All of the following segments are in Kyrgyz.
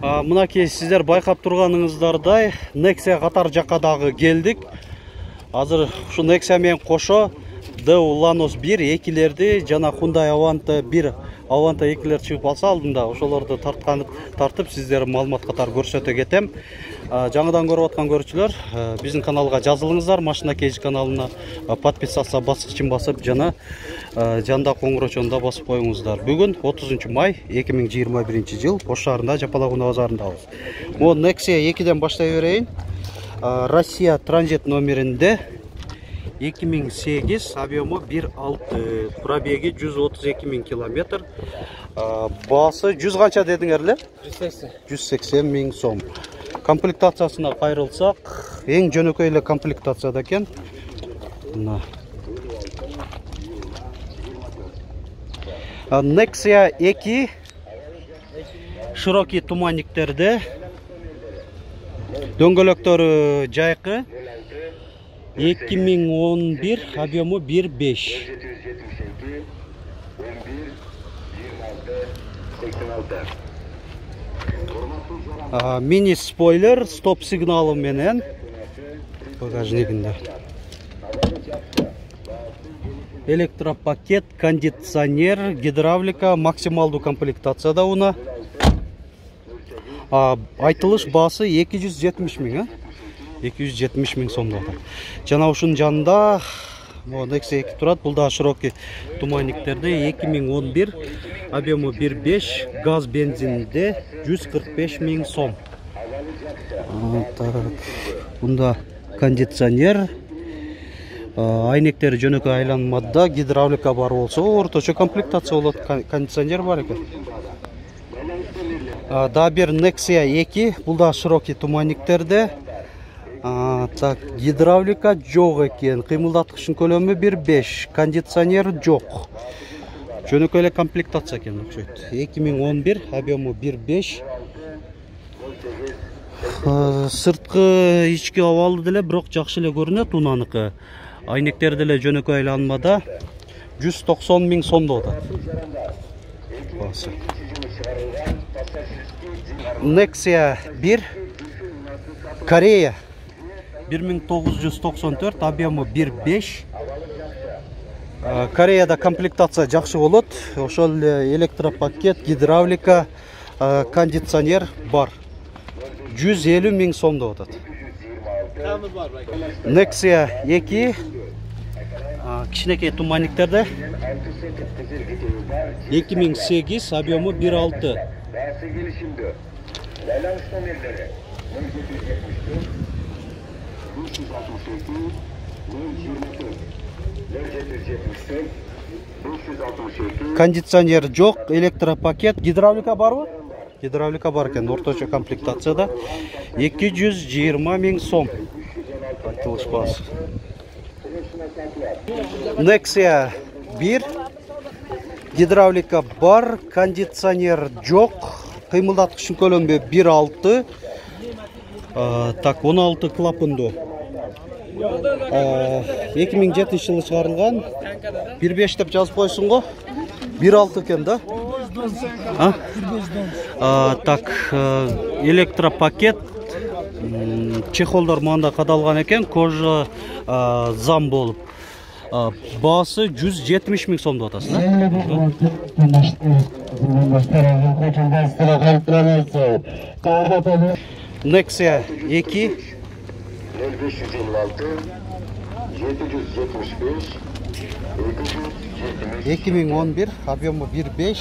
Мынакей сиздер байкап турганыңыздардай Nexia катар жакка дагы келдик. Азыр ушу Nexia менен кошо Daewoo Lanos 1 экилерди жана Hyundai Avanta 1 Avanta экилер чыгып алса алдында ошолорду тартып сиздер маалымат катары көрсөтө кетем. Жаңыдан көрүп аткан көрүүчүлөр, биздин каналга жазылыңыздар, Машина Кейж каналына подписаться баскычын басып жана жанда коңгурочону да басып коюңуздар. Бүгүн 30 май 2021 жыл Ош шаарында Жапалакунда базарындабыз. Могу Nexia 2ден баштай берейин. Россия транзит номеринде 2008, объему 1.6, пробеги 132 000 километр. Баасы 100 канча дедиңер? 180 000 сом. Комплектациясына кайрылсак, эң жөнөкөй эле комплектацияда экен. Nexia 2 широкий туманниктерде, дөңгөлөктөрү жайкы, 2011, объему 1.5. Мини спойлер, стоп сигналы менен багажнигинде. Электропакет, кондиционер, гидравлика, максималдуу комплектацияда уна. Айтылыш баасы 270 000, 270 000 сомдо. Жана ушунун жанында Nexia 2 турат. Бул да широкий туманниктерде 2011, объему 1.5, газ бензинде 145 000 сом. Бунда кондиционер, айнектери жөнөкөй айланмада, гидравлика бар болсо, орточо комплектация болот, кондиционер бар экен. Да бир Nexia 2, бул да широкий туманниктерде. Гидравлика жок экен, кыймылдаткычтын көлөмү 1.5, кондиционер жок. Жөнөкөй эле комплектация экен окшойт. 2011, объему 1.5. Сырткы ички абалы деле бирок жакшы эле көрүнөт унаныкы. Айнектери деле жөнөкөй айланмада 190 000 сомдо атат. Nexia 1 Корея 1994, объему 1.5. Кореяда комплектация жакшы болот. Ошол эле электропакет, гидравлика, кондиционер бар. 150 000 сомдо атат. Nexia 2 кичинекей туманниктерде 2008, объему 1.6. Кондиционер жок, электропакет, гидравлика барбы? Гидравлика бар экен, орточо комплектацияда 220 000 сом. Айтылыш баасы. Nexia 1 гидравлика бар, кондиционер жок, кыймылдаткычтын көлөмү 1.6. Так, 16 клапандуу. 2007 жылы чыгарылган. 1.5 деп жазып койсуң го. 1.6 экен да. Так, электропакет, чехолдор мында кадалган экен, кожа зам болуп. Баасы 170 000 сомдо атасың, Nexia 2 2011, объему 1.5.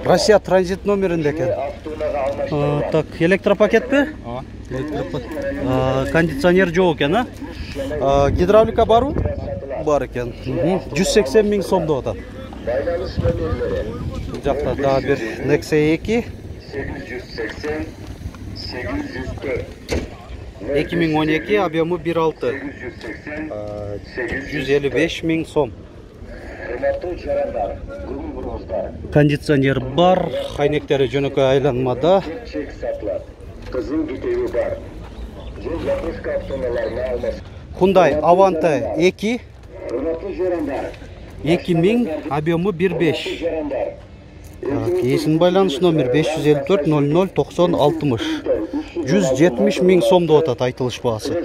Россия транзит номеринде экен. Так, электропакетпи? Кондиционер жок экен, гидравлика барбы? Бар экен. 180 000 сомдо атат. Бул жакта да бир Nexia 2 2012, объему 1.6. 155 000 сом. Кондиционер бар, айнектери жөнөкөй айланмада. Hyundai Avanta 2 2000, объему 1.5. Есін байланыш номер 554 00 90 60. 170 000 сом деп атат айтылыш баасы.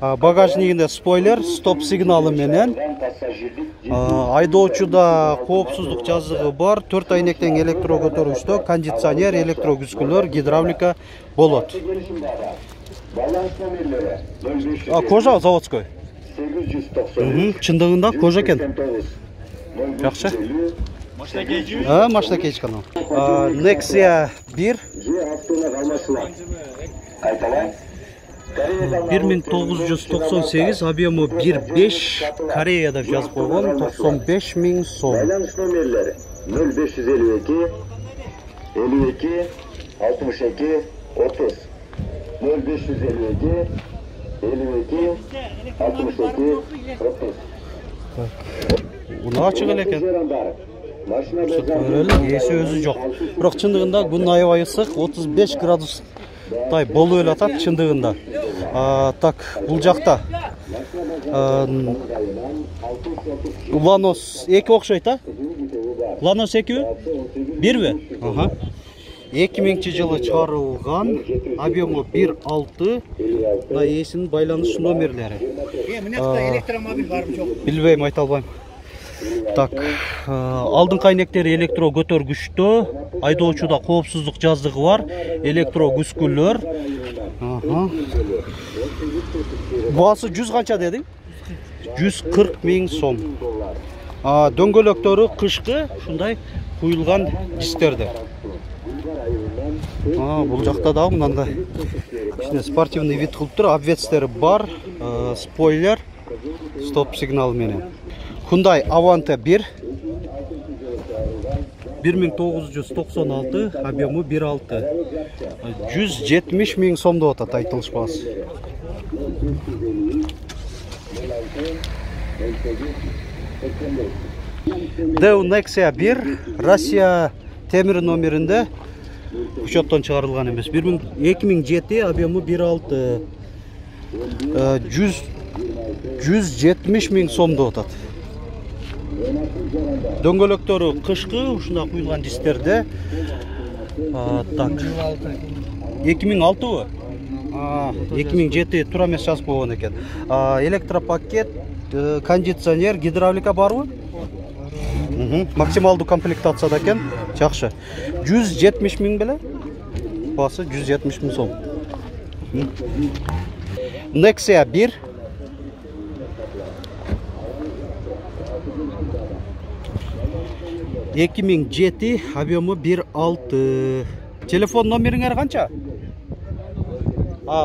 Багажнигинде спойлер, стоп сигналы менен. Айдоочуда коопсуздук жазыгы бар. 4 айнектен электро көтөргүчтө, кондиционер, электро күзгүлөр, гидравлика болот. Кожа заводской. Чындыгында кожа экен. Жакшы. Машина кейч канал. Nexia 1. 1998, объему 1.5, Кореяда жазып койгон, 95 000 сом. Байланыш номерлери 0552 52 62 30 0552 52 62 30. Уну ачык эле экен. Эси өзү жок. Бирок чындыгында күн аябай ысык, 35 градустай болуп эле атат чындыгында. Так, бул жакта Lanos 2 окшойт, а? Lanos 2? 1би? 2000-жылы чыгарылган, объему 1.6, мына эсинин байланыш номерлери. Мына электромобиль барбы жок? Билбейм, айта албайм. Так, алдыңкы айнектери электро көтөргүчтө, айдоочуда коопсуздук жазыгы бар, электро күзгүлөр. Баасы 100 канча дедиң? 140 000 сом. Дөңгөлөктөрү кышкы ушундай куюлган дистерде. Бул жакта да мындай ичинде спортивный вид кылып тур, обвестери бар, спойлер, стоп сигнал менен. Hyundai Avante 1. 1996, объему 1.6. 170 000 сом деп атат айтылыш баасы. Deo Nexia 1, Россия темир номеринде учеттон чыгарылган эмес. 2007, объему 1.6. 170 000 сом деп атат. Дөңгөлөктөрү кышкы ушундай куюлган дистерде. Так. 2006бы? 2007 туура эмес жазып койгон экен. Электропакет, кондиционер, гидравлика барбы? Максималдуу комплектацияда экен. Жакшы. 170 000 беле? Баасы 170 000 сом. Nexia 1. $2007, объему 1.6. Телефон номериңер канча?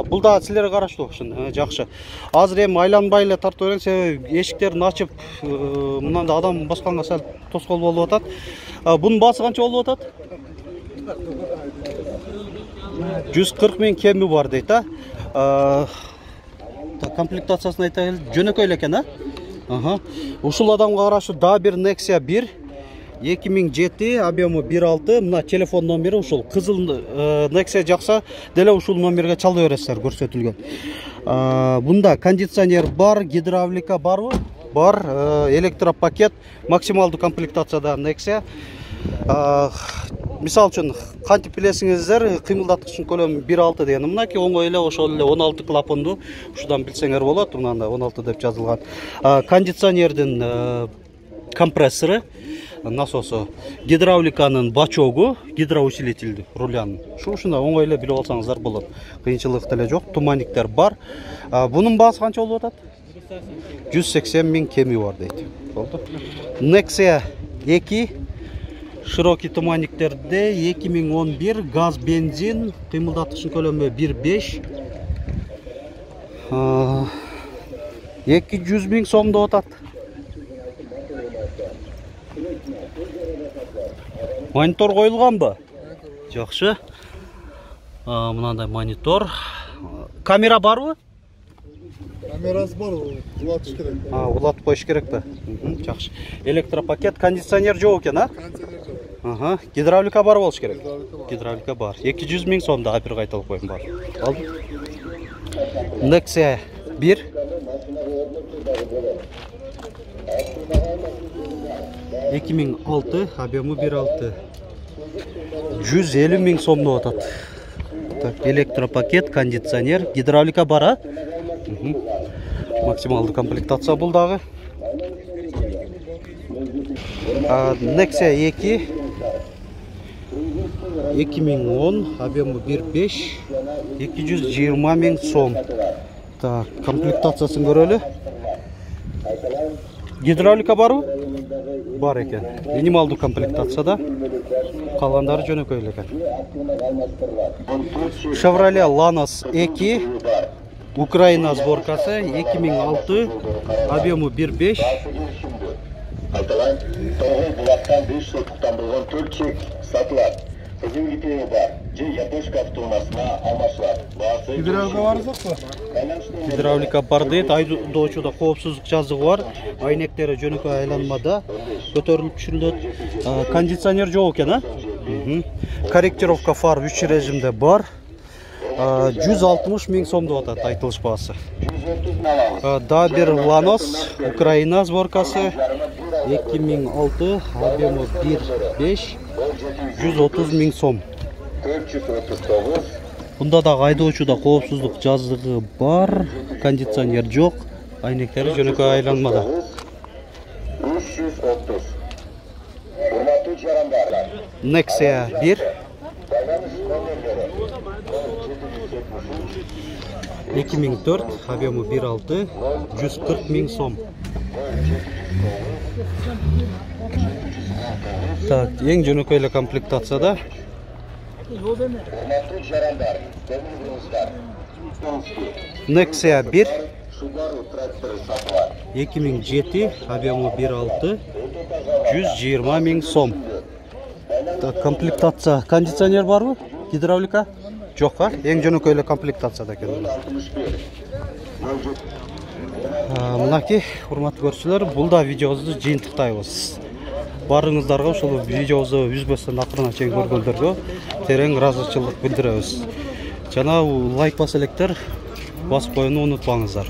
Бул да силерге караштуу ушун. Жакшы. Азыр эми айланбай эле тартып берем, себеби эшиктерин ачып, мындай адам басканга сал тоскоол болуп атат. Бунун баасы канча болуп атат? 140 000 кеми бар дейт, комплектациясын айта келди. Жөнөкөй эле экен, Ушул адамга караштуу да бир Nexia 1. 2007, объему 1.6, мына телефон номери ушул. Кызыл Nexia жакса, деле ушул номерге чала бересиздер, көрсөтүлгөн. Бунда кондиционер бар, гидравлика барбы? Бар, электропакет, максималдуу комплектацияда Nexia. Мисал үчүн, кантип билесиңиздер, кыймылдаткычтын көлөмү 1.6 деген. Мынакей оңой эле ошол эле 16 клапандуу, ушудан билсеңер болот, мынанда 16 деп жазылган. Кондиционердин компрессору, насосу, гидравликанын бачогу, гидроусилитель рулянын. Ушундай оңой эле билип алсаңыздар болот. Кыйынчылык деле жок, туманниктер бар. Бунун баасы канча болуп атат? 180 000 кеми бар дейт. Болду. Nexia 2, широкий туманниктерде 2011, газ, бензин, кыймылдаткычтын көлөмү 1.5. 200 000 сом деп атат. Монитор коюлганбы? Жакшы. Мынандай монитор. Камера барбы? Камерасы бар, улатыш керек. Улатып коюш керекпи? Жакшы. Электропакет, кондиционер жок экен, Кондиционер жок. Гидравлика бар болуш керек. Гидравлика бар. 200 000 сомда бир кайталып коюм бар. Алды. Nexia 1. 2006, объемы 1.6. 150 000 сомдоп атат. Так, электропакет, кондиционер, гидравлика бара. Максималдуу комплектация бул дагы. Nexia 2 2010, объемы 1.5, 220 000 сом. Так, комплектациясын көрөлү. Гидравлика барбы? Бар экен. Минималдуу комплектацияда. Калгандары жөнөкөй эле экен. Chevrolet Lanos 2 Украина сборкасы 2006, объемы 1.5. Айтылан, тоғыл бұлақтан 5 сотықтан болған 4 чек сатылар. Қызым кетері бар, же Япошка автоунасына алмашылар. Гидравлика бар жоқ па? Гидравлика бар дейт, айдоочуда коопсуздук жазыгы бар. Айнектери жөнөкөй айланмада көтөрүлүп түшүрүлөт. Кондиционер жок экен, а? Корректировка фар 3 режимде бар. 160 000 сом деп атат айтылыш баасы. Да бир Lanos Украина сборкасы 2006, объемы 1.5, 130 000 сом. 439. Бунда да айдоочуда коопсуздук жазыгы бар, кондиционер жок, айнектери жөнөкөй айланмада. 330. Урматтуу жарандар. Nexia 1 2004, объемы 1.6, 140 000 сом. Так, ең жөнөкөй эле комплектацияда. Урматтуу жарандар, көңүлүңүздөр. Nexia 1 Subaru трактору сатылар. 2007, объемы 1.6, 120 000 сом. Так, комплектация. Кондиционер барбы? Гидравлика? Жок, а? Ең жөнөкөй эле комплектацияда экен. 61. Мынакей, урматтуу көрүүчүлөр, бул да видеобузду жыйынтыктайбыз. Барыңыздарга ушул видеобузду үзбөстөн акырына чейин көргөндөргө терең ыраазычылык билдиребиз. Жана лайк басып электер басып коюуну унутпаңыздар.